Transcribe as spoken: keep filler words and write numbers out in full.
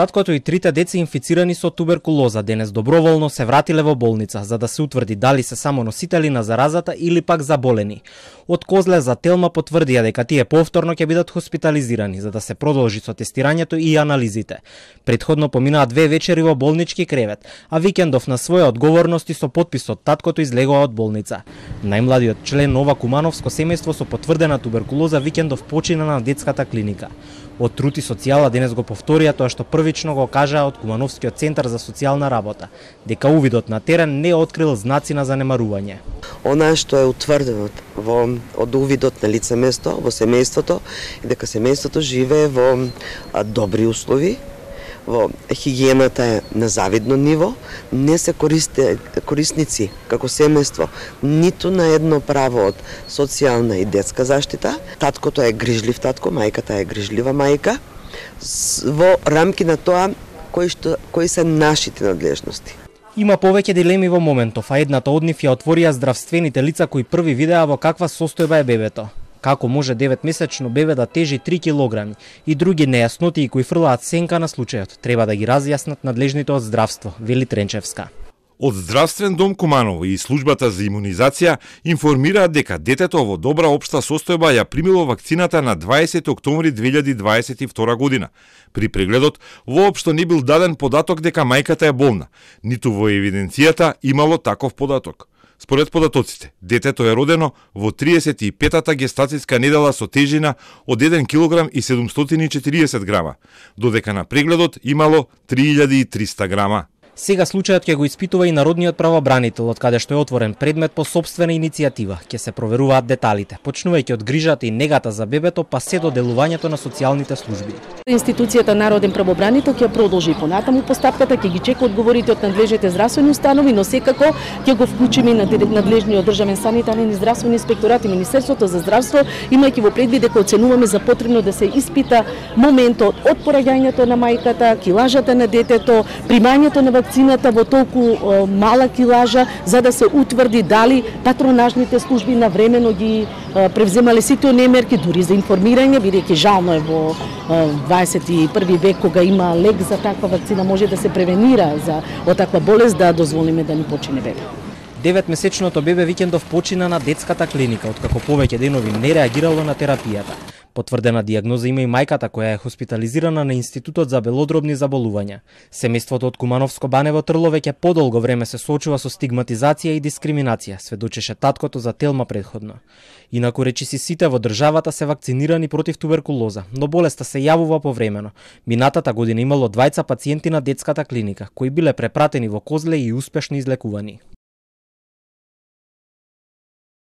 Таткото и трите деца инфицирани со туберкулоза денес доброволно се вратиле во болница за да се утврди дали се само носители на заразата или пак заболени. Од Козле за Телма потврдија дека тие повторно ќе бидат хоспитализирани за да се продолжи со тестирањето и анализите. Предходно поминаа две вечери во болнички кревет, а викендов на своја одговорности со подписот таткото излегува од болница. Најмладиот член ова кумановско семејство со потврдена туберкулоза викендов почина на детската клиника. Од Труд и социјала денес го повторија тоа што првично го кажаа од Кумановскиот центар за социјална работа, дека увидот на терен не открил знаци на занемарување. Она што е утврдено во од увидот на лице место во семејството и дека семејството живее во добри услови, во хигиената е на завидно ниво, не се користе, корисници како семејство ниту на едно право од социјална и детска заштита. Таткото е грижлив татко, мајката е грижлива мајка, во рамки на тоа кои, што, кои се нашите надлежности. Има повеќе дилеми во моментов, а едната од нив ја отворија здравствените лица кои први видеа во каква состојба е бебето. Како може деветмесечно бебе да тежи три килограми и други нејаснотии кои фрлаат сенка на случајот, треба да ги разјаснат надлежните од здравство, вели Тренчевска. Од Здравствен дом Куманово и службата за имунизација информираат дека детето во добра општа состојба ја примило вакцината на дваесети октомври две илјади дваесет и втора година. При прегледот воопшто не бил даден податок дека мајката е болна, ниту во евиденцијата имало таков податок. Според податоците, детето е родено во триесет и петата гестацијска недела со тежина од еден килограм и седумстотини и четириесет грама, додека на прегледот имало три илјади и триста грама. Сега случајот ќе го испитува и народниот правобранител, од каде што е отворен предмет по сопствена иницијатива. Ќе се проверуваат деталите, почнувајќи од грижата и негата за бебето, па се до делувањето на социјалните служби. Институцијата Народен правобранител ќе продолжи понатаму постапката, ќе ги чека одговорите од надлежните здравствени установи, но секако ќе го вклучиме и на надлежниот државен санитарен и здравствени инспекторат и Министерството за здравство, имајќи во предвид дека оценуваме за потребно да се испита моментот од пораѓањето на мајката, килажата на детето, примањето на вакцината во толку мала килажа, за да се утврди дали патронажните служби навремено ги превземале сите оние мерки, дури за информирање, бидејќи жално е во дваесет и први век кога има лек за таква вакцина, може да се превенира за од таква болест, да дозволиме да ни почине бебе. Деветмесечното бебе викендов почина на детската клиника, откако повеќе денови не реагирало на терапијата. Потврдена дијагноза има и мајката која е хоспитализирана на Институтот за белодробни заболувања. Семејството од Кумановско Банево Трло веќе подолго време се соочува со стигматизација и дискриминација, сведочеше таткото за Телма предходно. Инаку речиси сите во државата се вакцинирани против туберкулоза, но болеста се јавува повремено. Минатата година имало двајца пациенти на детската клиника, кои биле препратени во Козле и успешно излекувани.